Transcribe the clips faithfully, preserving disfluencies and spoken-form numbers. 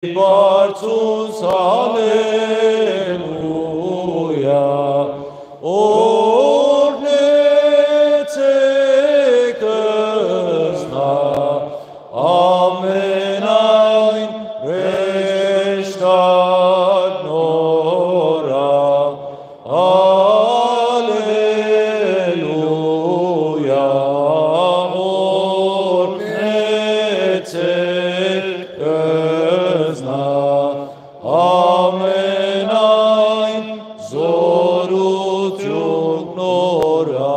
Բարձուց, հալելույա, օրհնեցեք զնա, ամենայն հրեշտակ նորը, հալելույա, օրհնեցեք զնա, ամենայն զօրութիւն նորը,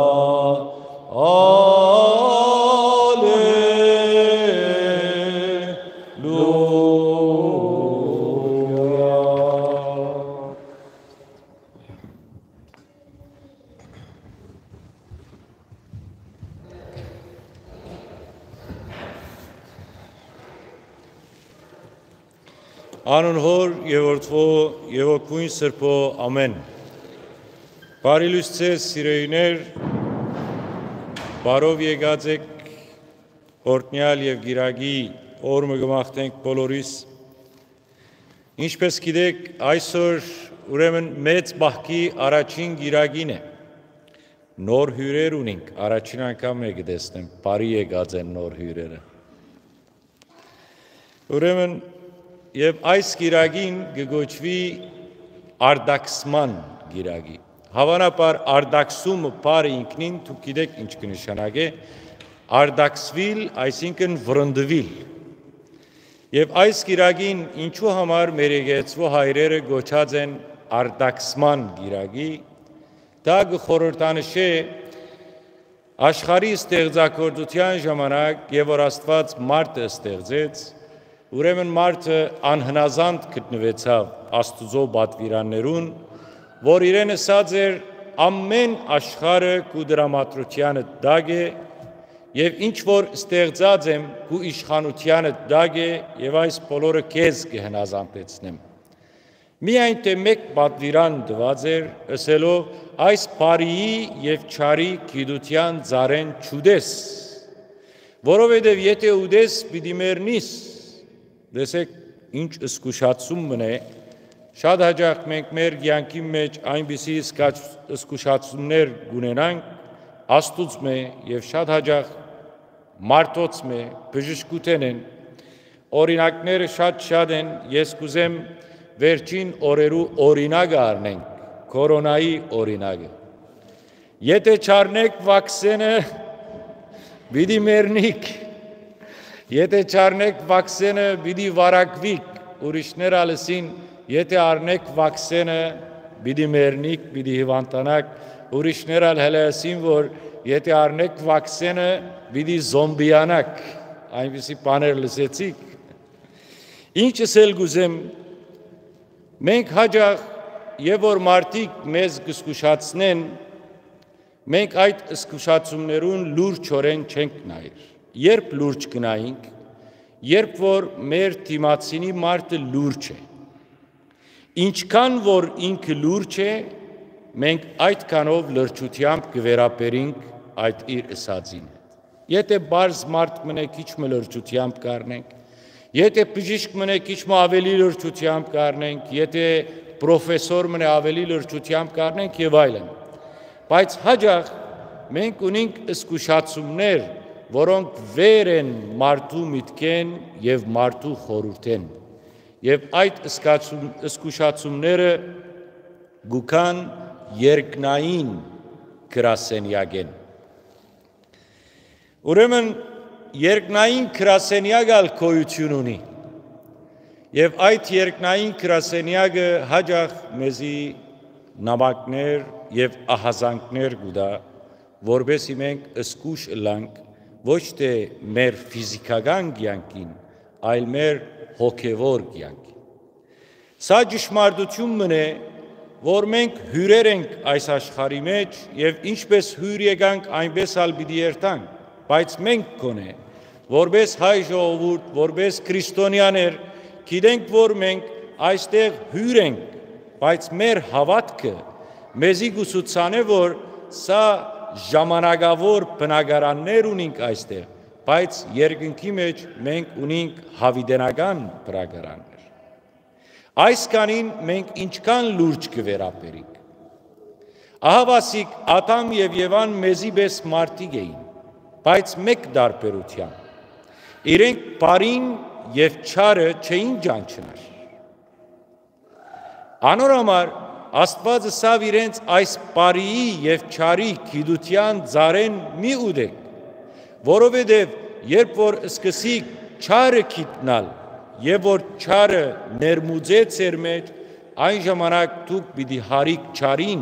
հալելույա։ Անուն Հօր եւ Որդւոյ եւ Հոգւոյն Սրբոյ, ամէն։ Բարի լուսցես, սիրելիներ, բարով եկած էք օրհնեալ եւ կիրակի օր մը կը մաղթենք բոլորիս։ Ինչպէս գիտէք, այսօր ուրեմն մեծ պահքի առաջին կիրակին է։ Նոր հիւրեր ունինք, առաջին անգամ է կը տեսնեմ, բարի եկած են նոր հիւրերը։ Ուրեմն, եւ այս կիրակին կը կոչուի արտաքսման կիրակի։ Հաւանաբար արտաքսումը բառը ինքնին, դուք գիտէք ինչ կը նշանակէ, արտաքսուիլ, այսինքն վրընդուիլ։ Եւ այս կիրակին ինչու համար մեր եկեղեցւոյ հայրերը կոչած են արտաքսման կիրակի, դա կը խորհրդանշէ աշխարհի ստեղծագործութեան ժամանակ եւ որ Աստուած մարդը ստեղծեց, ուրեմն մարդը անհնազանդ գտնուեցաւ Աստուծոյ պատուիրաններուն, որ իրեն ըսած էր. «Ամէն աշխարհը քու դրամատրութեանդ տակ է, եւ ինչ որ ստեղծած եմ, քու իշխանութեանդ տակ է, եւ այս բոլորը քեզ կը հնազանդեցնեմ»։ Միայն թէ մէկ պատուիրան տուած էր, ըսելով. «Այս բարիի եւ չարի գիտութեան ծառէն չուտես, որովհետեւ եթէ ուտես, պիտի մեռնիս»։ Տեսեք, ինչ զգուշացում մըն է։ Շատ յաճախ մենք մեր կեանքի մէջ այնպիսի զգաչ-, զգուշացումներ կունենանք Աստուծմէ եւ շատ յաճախ մարդոցմէ, բժշկութենէն։ Օրինակները շատ-շատ են, ես կ'ուզեմ վերջին օրերու օրինակը առնենք, քորոնայի օրինակը։ Եթէ չառնեք վաքսենը, պիտի մեռնիք։ Եթէ չառնեք վաքսենը, պիտի վարակուիք։ Ուրիշներ ալ ըսին, եթէ առնեք վաքսենը, պիտի մեռնիք, պիտի հիւանդանաք։ Ուրիշներ ալ հələ ըսին, որ եթէ առնեք վաքսենը, պիտի զոմբիանաք։ Այնպիսի բաներ լսեցիք։ Ինչ ըսել կ'ուզեմ, մենք յաճախ, եւ որ մարդիկ մեզ կը զգուշացնեն, մենք այդ զգուշացումներուն լուրջօրէն չենք նայեր։ Երբ լուրջ կը նայինք, երբ որ մեր դիմացինի մարդը լուրջ է, ինչքան որ ինքը լուրջ է, մենք այդքանով լրջութեամբ կը վերաբերինք այդ իր ըսածին հետ։ Եթէ պարզ մարդ մըն է, քիչ մը լրջութեամբ կ'առնենք, եթէ բժիշկ մըն է, քիչ մը աւելի լրջութեամբ կ'առնենք, եթէ պրոֆեսոր մըն է, աւելի լրջութեամբ կ'առնենք եւ այլն։ Բայց յաճախ մենք ունինք զգուշացումներ, որոնք վեր են մարդու միտքէն եւ մարդու խորհուրդէն։ Եւ այդ զգացում-, զգուշացումները կու գան երկնային գրասենեակէն։ Ուրեմն երկնային գրասենեակ ալ գոյութիւն ունի։ Եւ այդ երկնային գրասենեակը յաճախ մեզի նամակներ եւ ահազանգներ կու տայ, որպեսզի մենք զգուշ ըլլանք ոչ թէ մեր ֆիզիքական կեանքին, այլ մեր հոգեվոր կեանքին։ Սա ճշմարտություն մըն է, որ մենք հիւրեր ենք այս աշխարհի մէջ եւ ինչպէս հիւր եկանք, այնպէս ալ պիտի երթանք, բայց մենք գոնե, որպէս հայ ժողովուրդ, որպէս քրիստոնեաներ, գիտենք, որ մենք այստեղ հիւր ենք, բայց մեր հաւատքը մեզի կու ցուցանէ, որ սա ժամանակաւոր բնակարաններ ունինք այստեղ, բայց երկնքի մէջ մենք ունինք յաւիտենական բնակարաններ։ Այս կանին մենք ինչքան լուրջ կը վերաբերինք։ Ահա ասիկ Ադամ եւ Եվան մեզի պէս մարդիկ էին, բայց մէկ տարբերութեան։ Իրենք բարին եւ չարը չէին ճանչնար։ Անոր համար Աստուած ըսաւ իրենց այս բարիի եւ չարի գիտութեան ծառէն մի ուտէք, որովհետեւ երբ որ սկսիք չարը գիտնալ եւ որ չարը ներմուծէ ձեր մէջ, այն ժամանակ դուք պիտի յարիք չարին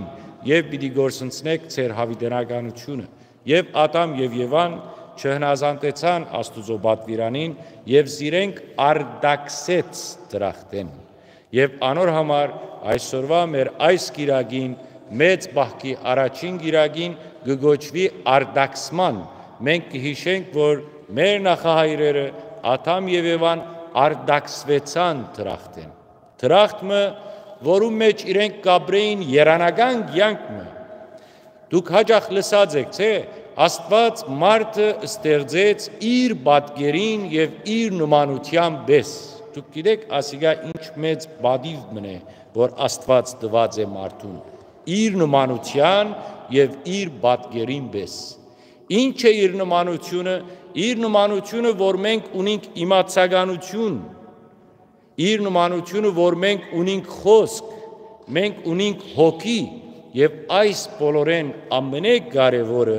եւ պիտի կորսնցնէք ձեր յաւիտենականութիւնը։ Եւ Ադամ եւ Եվան չհնազանդեցան Աստուծոյ պատուիրանին եւ զիրենք արտաքսեց դրախտէն։ Եւ անոր համար այսօրուայ մեր այս կիրակին, մեծ պահքի առաջին կիրակին, կը կոչուի արտաքսման։ Մենք կը յիշենք, որ մեր նախահայրերը Ադամ եւ Եվան արտաքսուեցան դրախտէն։ Դրախտ մը, որուն մէջ իրենք կ'ապրէին երանական կեանք մը։ Դուք յաճախ լսած էք, չէ՞, Աստուած մարդը ստեղծեց իր պատկերին եւ իր նմանութեան պէս։ Դուք գիտէք, ասիկա ինչ մեծ պատիւ մըն է, որ Աստուած տուած է մարդուն, իր նմանութեան եւ իր պատկերին պէս։ Ինչ է իր նմանութիւնը։ Իր նմանութիւնը, որ մենք ունենք իմացականութիւն, իր նմանութիւնը, որ մենք ունենք խօսք, մենք ունենք հոգի, եւ այս բոլորէն ամենակարեւորը,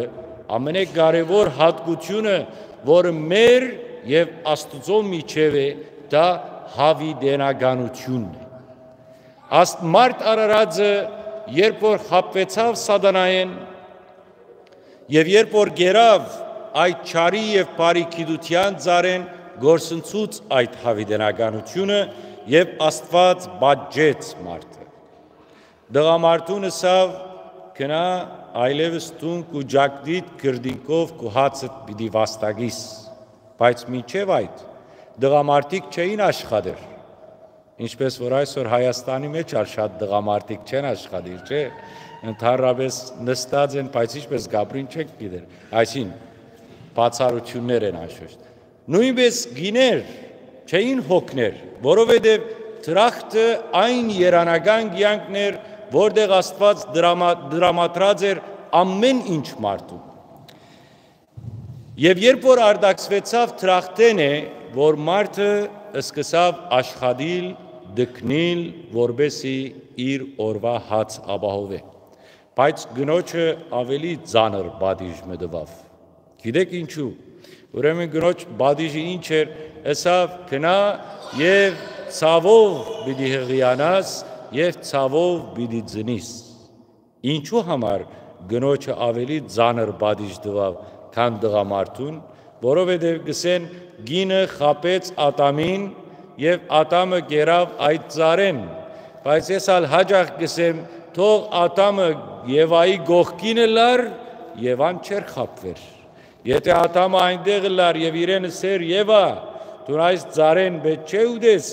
ամենակարեւոր յատկությունը, որը մեր եւ Աստուծոյ միջեւ է, դա յաւիտենականութիւնն է։ Աստ մարդ արարածը, երբ որ խաբուեցաւ սատանայէն, եւ երբ որ կերաւ այդ չարի եւ բարի գիտութեան ծառէն, կորսնցուց այդ յաւիտենականութիւնը եւ Աստուած պատժեց մարդը։ Տղամարդուն ըսաւ. «Գնա, այլեւս դուն քու ճակտիդ քրտինքով քու հացդ պիտի վաստակիս»։ Բայց մինչեւ այդ, տղամարդիկ չէին աշխատեր, ինչպես որ այսօր Հայաստանի մեջ ալ շատ տղամարդիկ չեն աշխատիր, չէ՞։ Ընդհանրապես նստած են, բայց ինչպես կ'ապրին չենք գիտեր, այսին բացառութիւններ են անշուշտ։ Նոյնպէս կիներ չէին հոգներ, որովհետեւ դրախտը այն երանական կեանքն էր, որտեղ Աստուած դրամա-, դրամատրած էր ամեն ինչ մարդուն։ Եւ երբ որ արտաքսուեցաւ դրախտէն է, որ մարդը սկսաւ աշխատիլ, տքնիլ, որպեսզի իր օրուայ հաց ապահովէ։ Բայց կնոջը աւելի ծանր պատիժ մը տուաւ։ Գիտէք ինչու։ Ուրեմն կնոջ պատիժը ինչ էր, ըսաւ. «Գնա եւ ցաւով պիտի հղիանաս եւ ցաւով պիտի ծնիս»։ Ինչու համար կնոջը աւելի ծանր պատիժ տուաւ, քան տղամարդուն, որովհետեւ կ'ըսեն. «Կինը խաբեց Ատամին եւ Ատամը կերաւ այդ ծառէն»։ Բայց ես ալ յաճախ կ'ըսեմ. «Թող Ատամը Եվայի կողքին ըլլար, Եվան չէր խաբուեր»։ Եթէ Ատամը այնտեղ ըլլար եւ իրեն ըսէր. «Եվա, դուն այս ծառէն պէտք չէ ուտես,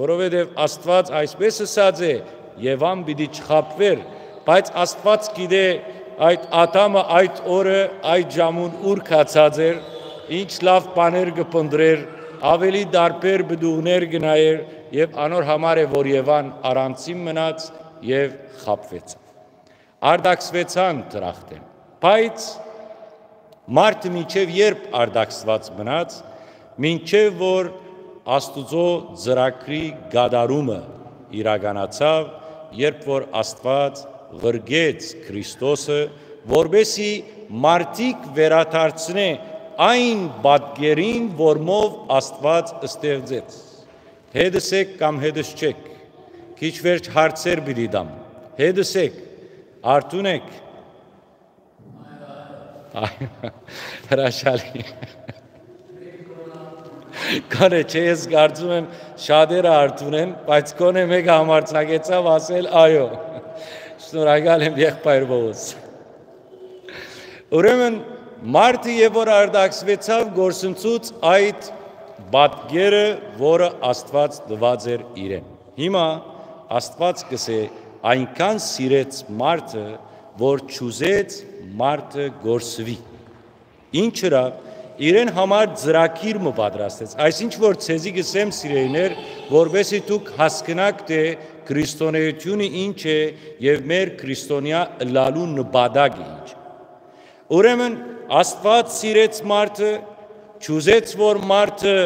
որովհետեւ Աստուած այսպէս ըսած է», Եվան պիտի չխաբուեր, բայց Աստուած գիտէ այդ Ատամը այդ օրը, այդ ժամուն ուր գացած էր, ինչ լաւ բաներ կը փնտռէր, աւելի տարբեր պտուղներ կը նայէր, եւ անոր համար է, որ Եվան առանցին մնաց եւ խաբուեցաւ։ Արտաքսուեցան դրախտէն, բայց մարդը մինչեւ երբ արտաքսուած մնաց, մինչեւ որ Աստուծոյ ծրագրի կատարումը իրականացաւ, երբ որ Աստուած ղրկեց Քրիստոսը, որպեսզի մարդիկ վերադարձնէ այն պատկերին, որմով Աստուած ստեղծեց։ Հետս եք կամ հետս չեք, քիչ վերջ հարցեր պիտի տամ։ Հետս եք, արթուն եք։ Այ, հրաշալի։ Գոնե չէ, ես կարծում եմ, շատերը արթուն են, բայց գոնե մեկը համարձակեցաւ ասել. «Այո»։ Շնորհակալ եմ, եղբայր Պողոս։ Ուրեմն, մարդը երբ որ արտաքսվեցաւ, կորսնցուց այդ պատկերը, որը Աստուած տուած էր իրեն։ Հիմա Աստուած կ'ըսէ. «Այնքան սիրեց մարդը, որ չուզեց մարդը կորսուի»։ Ինչ ըրաւ, իրեն համար ծրագիր մը պատրաստեց։ Այսինչ որ ձեզի կ'ըսեմ, սիրելիներ, որպեսզի դուք հասկնաք թէ քրիստոնէութիւնը ինչ է եւ մեր քրիստոնեայ ըլլալու նպատակը ինչ է։ Ուրեմն Աստուած սիրեց մարդը, չուզեց որ մարդը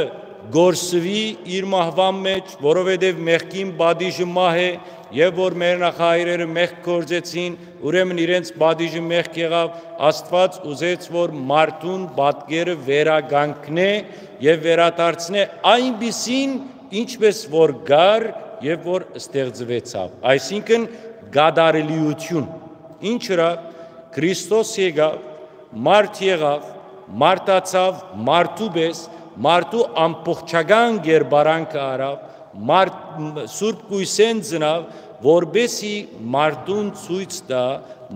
կորսուի իր մահուան մէջ, որովհետեւ մեղքին պատիժը մահ է, եւ որ մեր նախահայրերը մեղք գործեցին, ուրեմն իրենց պատիժը մեղք եղաւ։ Աստուած ուզեց որ մարդուն պատկերը վերականգնէ եւ վերադարձնէ այնպիսին, ինչպէս որ կար եւ որ ստեղծուեցաւ, այսինքն՝ կատարելիություն։ Ինչ ըրաւ, Քրիստոս եկաւ, մարդ եղաւ, մարդացաւ մարդու պէս, մարդու ամբողջական կերպարանքը առաւ, մարդ, Սուրբ Կոյսէն ծնաւ, որպեսզի մարդուն ցոյց տայ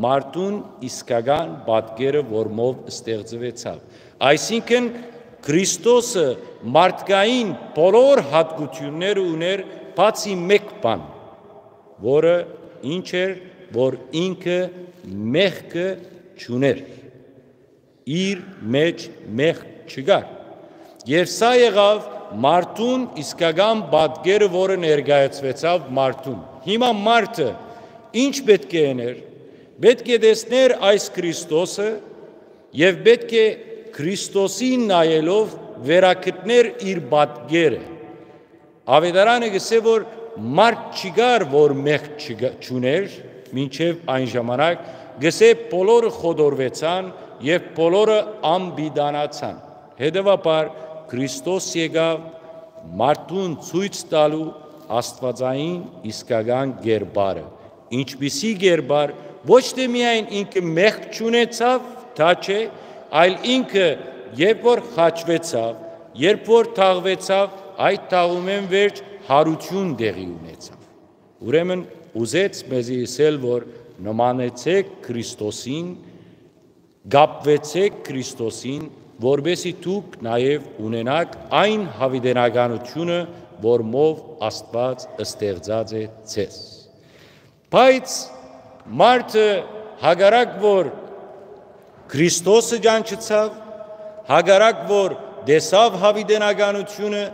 մարդուն իսկական պատկերը, որմով ստեղծուեցաւ։ Այսինքն՝ Քրիստոսը մարդկային բոլոր յատկությունները ունէր, բացի մէկ բան, որը ինչ էր, որ ինքը մեղքը չունէր, իր մէջ մեղք չկար։ Եւ սա եղաւ մարդուն իսկական պատկերը, որը ներկայացուեցաւ մարդուն։ Հիմա մարդը ինչ պէտք է ըներ, պէտք է տեսներ այս Քրիստոսը եւ պէտք է Քրիստոսին նայելով վերագտներ իր պատկերը։ Աւետարանը կ'ըսէ որ մարդ չկար որ մեղք չկա- չունէր մինչեւ այն ժամանակ, կ'ըսէ՝ բոլորը խոտորուեցան եւ բոլորը անպիտանացան։ Հետեւաբար Քրիստոս եկաւ մարդուն ցոյց տալու աստուածային իսկական կերպարը, ինչպիսի կերպար, ոչ թէ միայն ինքը մեղք չունեցաւ, դա չէ, այլ ինքը երբ որ խաչուեցաւ, երբ որ թաղուեցաւ, այդ թաղումէն վերջ յարութիւն տեղի ունեցաւ։ Ուրեմն ուզեց մեզի ըսել որ նմանեցէք Քրիստոսին, կապուեցէք Քրիստոսին, որպեսզի դուք նաեւ ունենաք այն յաւիտենականությունը, որմով Աստուած ստեղծած է ձեզ։ Բայց մարդը հակառակ որ Քրիստոսը ճանչցաւ, հակառակ որ տեսաւ յաւիտենականությունը,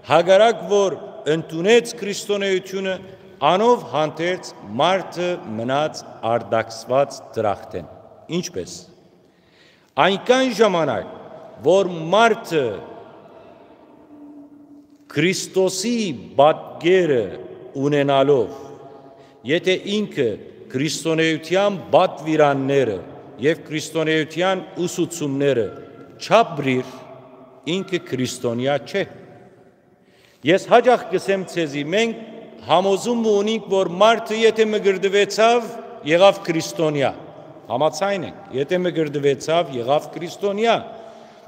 հակառակ որ ընդունեց քրիստոնէությունը, անով հանդերձ մարդը մնաց արտաքսուած դրախտէն։ Ինչպէս։ Այնքան ժամանակ որ մարդը Քրիստոսի պատկերը ունենալով, եթե ինքը քրիստոնէության պատուիրանները եւ քրիստոնէության ուսուցումները չապրիր, ինքը քրիստոնեայ չէ։ Ես յաճախ կ'ըսեմ ձեզի, մենք համոզում մը ունինք որ մարդը եթե մկրտուեցաւ, եղաւ քրիստոնեայ։ Համաձայն ենք, եթե մկրտուեցաւ, եղաւ քրիստոնեայ։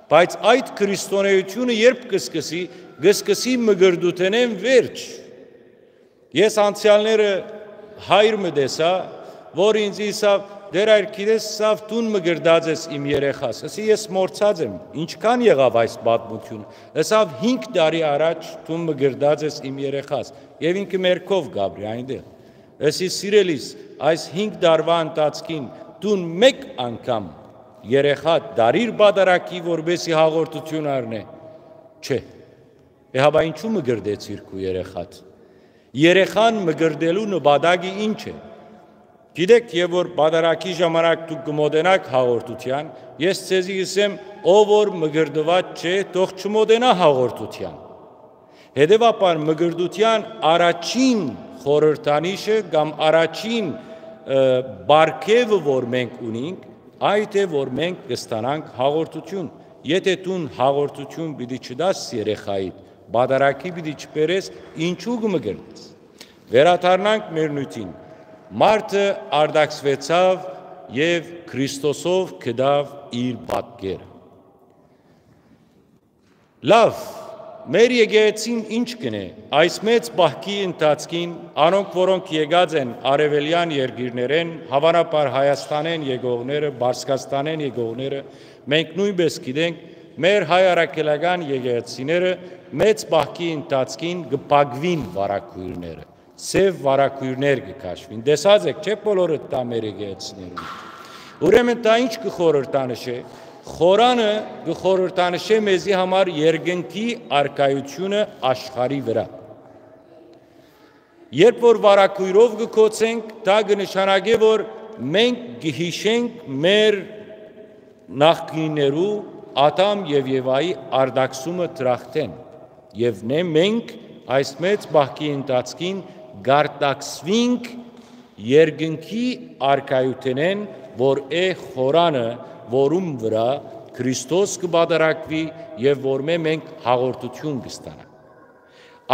Բայց այդ քրիստոնէությունը երբ կը սկսի, կը սկսի մկրտութենէն վերջ։ Ես անցեալները հայր մը տեսայ, որ ինձ ըսաւ. «Տէր, այր գիտես, սա դուն մկրտած ես իմ երեխաս»։ Ըսի. «Ես մոռցած եմ, ինչքան եղաւ այս պատմությունը»։ Ըսաւ. «Հինգ տարի առաջ դուն մկրտած ես իմ երեխաս»։ Եւ ինքը մեր քով կապրի այնտեղ։ Ըսի. «Սիրելիս, այս հինգ տարուան ընթացքին դուն մէկ անգամ երեխա դարիր պատարագի, որպեսի հաղորդութիւն առնէ»։ Չէ։ Է, հապա ինչու մկրտեցիր քու երեխադ։ Երեխան մկրտելու նպատակը ինչ է։ Գիտեք, եւ որ պատարագի ժամանակ դուք կը մոտենաք հաղորդութեան, ես ձեզի կ'ըսեմ, ով որ մկրտուած չէ, թող չմոտենայ հաղորդութեան։ Հետեւաբար մկրտութեան առաջին խորհրդանիշը կամ առաջին, ը, պարգեւը որ մենք ունինք, այդ է որ մենք կ'ստանանք հաղորդութիւն։ Եթե դուն հաղորդութիւն պիտի չտաս երեխայիդ, պատարագի պիտի չբերես, ինչու կը մկրտես։ Վերադառնանք մեր նիւթին։ Մարդը արտաքսուեցաւ եւ Քրիստոսով գտաւ իր պատկերը։ Լավ, մեր եկեղեցին ինչ կ'ընէ այս մեծ պահքի ընթացքին, անոնք որոնք եկած են արեւելեան երկիրներէն, հաւանաբար Հայաստանէն եկողները, Պարսկաստանէն եկողները, մենք նոյնպէս գիտենք, մեր հայ առաքելական եկեղեցիները մեծ պահքի ընթացքին կը փակուին վարագոյրները, սեւ վարագոյրներ կը քաշուին։ Տեսած եք, չէ՞, բոլորը դա մեր եկեղեցիներուն։ Ուրեմն դա ինչ կը խորհրդանշէ, Խորանը կը խորհրդանշէ մեզի համար երկնքի առկայութիւնը աշխարհի վրայ։ Երբ որ վարագոյրով կը գոցենք, դա կը նշանակէ, որ մենք կը յիշենք մեր նախկիններու՝ Ադամ եւ Եվայի արտաքսումը դրախտէն, եւ նե մենք այս մեծ պահքի ընթացքին կ'արտաքսուինք երկնքի առկայութենէն, որ է խորանը, որուն վրայ Քրիստոս կը պատարագուի եւ որմէ մենք հաղորդութիւն կը ստանանք։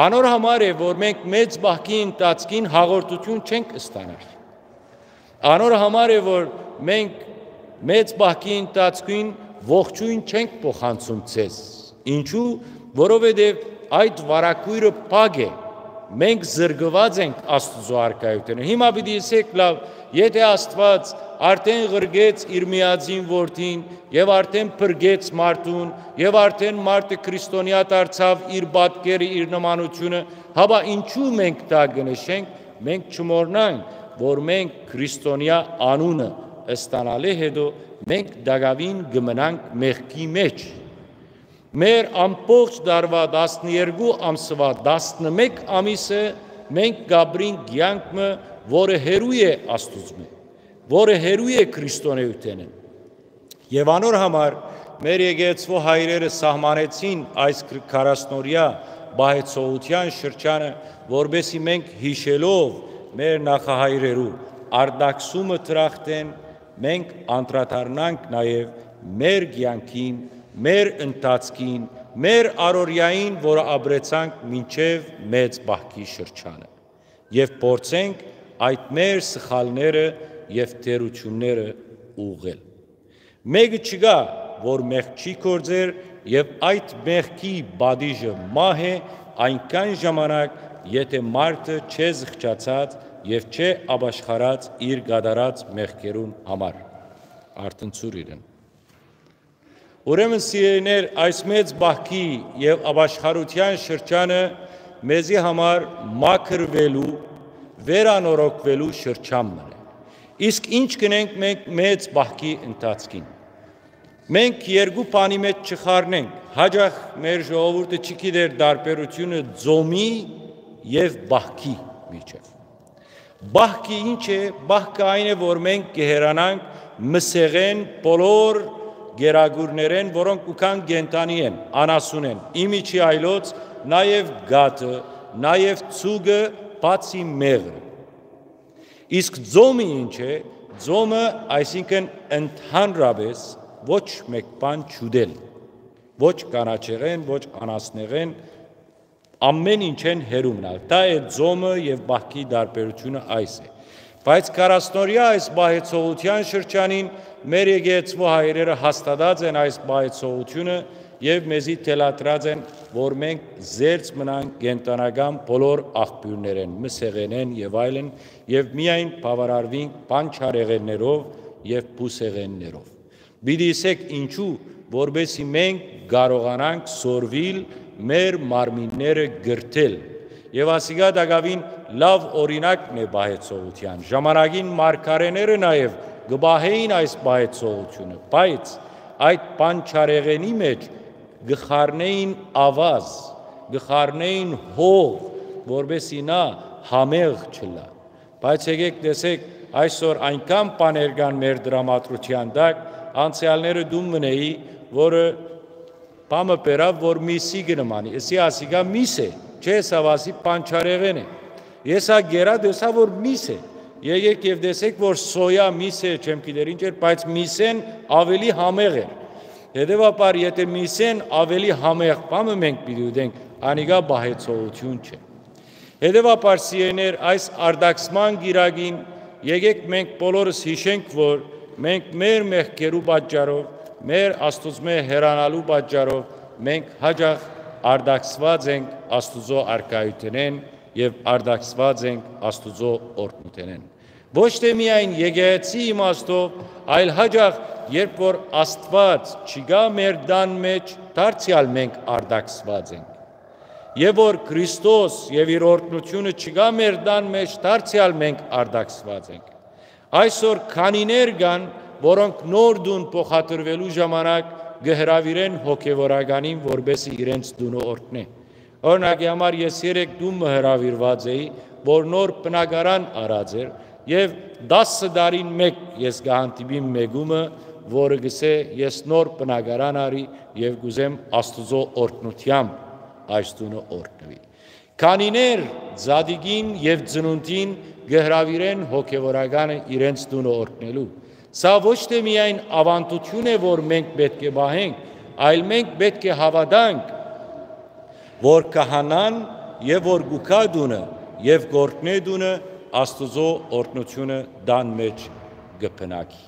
Անոր համար է, որ մենք մեծ պահքի ընթացքին հաղորդութիւն չենք ստանար։ Անոր համար է, որ մենք մեծ պահքի ընթացքին ողջոյն չենք փոխանցում ձեզ։ Ինչու՞, որովհետեւ այդ վարագոյրը փակ է։ Մենք զրկուած ենք Աստուծոյ առկայութենէն։ Հիմա պիտի ըսեք, լաւ, եթէ Աստուած արդէն ղրկեց իր միածին որդին եւ արդէն փրկեց մարդուն եւ արդէն մարդը քրիստոնեայ դարձաւ իր պատկերը, իր նմանութիւնը, հապա ինչու մենք դա կը նշենք, մենք չմոռնանք, որ մենք քրիստոնեայ անունը ստանալէ հետո մենք տակաւին կը մնանք մեղքի մէջ։ Մեր ամբողջ տարուայ տասներկու ամսուայ տասնմէկ ամիսը մենք կ'ապրինք կեանք մը, որը հեռու է Աստուծմէ, որը հեռու է քրիստոնէութենէն։ Եւ անոր համար մեր եկեղեցւոյ հայրերը սահմանեցին այս քրքարասնորյա պահեցողութեան շրջանը, որպեսզի մենք յիշելով մեր նախահայրերու արտաքսումը դրախտէն, մենք անդրադառնանք նաեւ մեր կեանքին, մեր ընթացքին, մեր առօրեային, որը ապրեցանք մինչեւ մեծ պահքի շրջանը, եւ փորձենք այդ մեր սխալները եւ թերությունները ուղղել։ Մէկը չկայ, որ մեղք չի գործեր, եւ այդ մեղքի պատիժը մահ է այնքան ժամանակ, եթէ մարդը չէ զղջացած եւ չէ ապաշխարած իր կատարած մեղքերուն համար։ Արթնցուր իրեն։ Ուրեմն, սիրելիներ, այս մեծ պահքի եւ ապաշխարութեան շրջանը մեզի համար մաքրուելու, վերանորոգուելու շրջան մը է։ Իսկ ինչ կ'ընենք մենք մեծ պահքի ընթացքին։ Մենք երկու բանի մէջ չխառնենք, հաճախ մեր ժողովուրդը չի գիտեր տարբերութիւնը ծոմի եւ պահքի միջեւ։ Պահքը ինչ է։ Պահքը այն է, որ մենք կը հեռանանք մսեղէն, բոլոր գերագուրներէն, որոնք կու գան կենդանի են, անասուն են, ի միջի այլոց նաեւ կաթը, նաեւ ձուկը, բացի մեղրը։ Իսկ ծոմը ինչ է։ Ծոմը, այսինքն, ընդհանրապէս ոչ մէկ բան չուտել, ոչ կանաչեղէն, ոչ անասնեղէն, ամէն ինչէն հեռու մնալ։ Դա է ծոմը եւ պահքի տարբերութիւնը, այս է։ Բայց քառասնօրեայ այս պահեցողութեան շրջանին մեր եկեղեցւոյ հայրերը հաստատած են այս պահեցողութիւնը եւ մեզի թելադրած են, որ մենք զերծ մնանք կենդանական բոլոր աղբիւրներէն, մսեղէնէն եւ այլն, եւ միայն բաւարարուինք պանչարեղէններով եւ բուսեղէններով։ Պիտի ըսեք ինչու, որպեսզի մենք կարողանանք սորվիլ մեր մարմինները կրթել։ Եւ ասիկա տակաւին լաւ օրինակն է պահեցողութեան։ Ժամանակին մարգարէները նաեւ կը պահէին այս պահեցողութիւնը, բայց այդ պանչարեղէնի մէջ կը խառնէին աւազ, կը խառնէին հող, որպեսզի նա համեղ չըլլայ։ Բայց եկեք տեսեք, այսօր այնքան բաներ կան մեր դրամատրութեան տակ, անցեալները դուն մնեի, որը բամը բերաւ, որ միսի կը նմանի, ըսի, ասիկա միս է, չէ, սա, ասի, պանչարեղէն է։ Ես ա գերա, տեսա, որ միս է։ Եկեք եւ տեսեք, որ սոյա միս է, չեմ գիտեր ինչ էր, բայց միսեն ավելի համեղ էր։ Հետեւաբար, եթէ միսեն ավելի համեղ բամը մենք պիտի ուտենք, անիկա պահեցողութիւն չէ։ Հետեւաբար, սիրելիներ, այս արտաքսման կիրակին եկեք մենք բոլորս յիշենք, որ մենք մեր մեղքերու պատճառով, մեր Աստուծմէ հեռանալու պատճառով մենք հաճախ արտաքսուած ենք Աստուծոյ առկայութենէն եւ արտաքսուած ենք Աստուծոյ օրհնութենէն։ Ոչ թէ միայն եկեղեցի իմաստով, այլ հաճախ, երբ որ Աստուած չկայ մեր տան մէջ, դարձեալ մենք արտաքսուած ենք։ Եւ որ Քրիստոս եւ իր օրհնութիւնը չկայ մեր տան մէջ, դարձեալ մենք արտաքսուած ենք։ Այսօր քանիներ կան, որոնք նոր տուն փոխադրուելու ժամանակ կը հրաւիրեն հոգեվորականին, որպէս զի իրենց տունը օրհնէ։ Օրինակի համար, ես երեկ տուն մը հրաւիրուած էի, որ նոր բնակարան առած էր, եւ տասը տարին մէկ ես կը հանդիպիմ մէկումը, որը կ'ըսէ. «Ես նոր բնակարան առի եւ կ'ուզեմ Աստուծոյ օրհնութեամբ այս տունը օրհնուի»։ Քանիներ Զատիկին եւ ծնունդին կը հրաւիրեն հոգեվորականը իրենց տունը օրհնելու։ Սա ոչ թէ միայն աւանդութիւն է, որ մենք պէտք է պահենք, այլ մենք պէտք է հաւատանք, որ քահանան եւ որ կու գայ տունը եւ կ'օրհնէ տունը, Աստուծոյ օրհնութիւնը տան մէջ կը բնակի։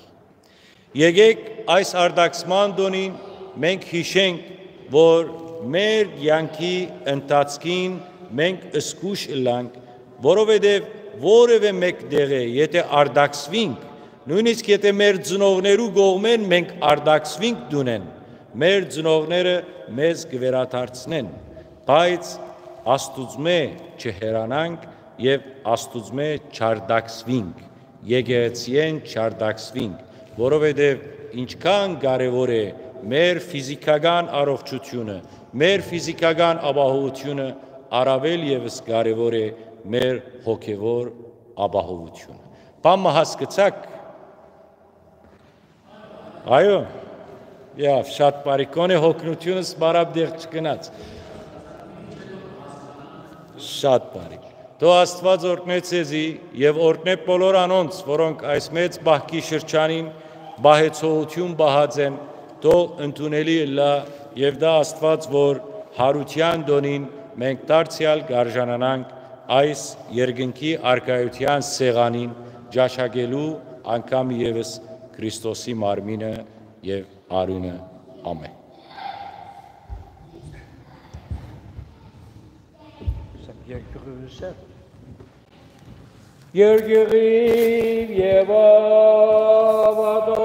Եկէք այս արտաքսման տօնին մենք յիշենք, որ մեր կեանքի ընթացքին մենք զգոյշ ըլլանք, որովհետեւ որեւէ մէկ տեղէ եթէ արտաքսուինք, նոյնիսկ եթէ մեր ծնողներու կողմէն մենք արտաքսուինք տունէն, մեր ծնողները մեզ կը վերադարձնեն, բայց Աստուծմէ չհեռանանք եւ Աստուծմէ չարտաքսուինք, եկեղեցիէն չարտաքսուինք, որովհետեւ ինչքան կարեւոր է մեր ֆիզիքական առողջութիւնը, մեր ֆիզիքական ապահովութիւնը, առաւել եւս կարեւոր է մեր հոգեվոր ապահովութիւնը։ Բան մը հասկցաք։ Այո, եվ շատ բարի, կոնե հոգնությունս բարապ դեղ չգնաց։ Շատ բարի։ Թող Աստուած օրհնէ ձեզի եւ օրհնէ բոլոր անոնց, որոնք այս մեծ պահքի շրջանին պահեցողութիւն պահած են, թող ընդունելի ըլլայ եւ դա Աստուած, որ Յարութեան տօնին մենք դարձեալ կարժանանանք այս երկնքի արքայութեան սեղանին ճաշակելու անգամ եւս Քրիստոսի մարմինը եւ արիւնը։ Ամէն։ Երկրի եւ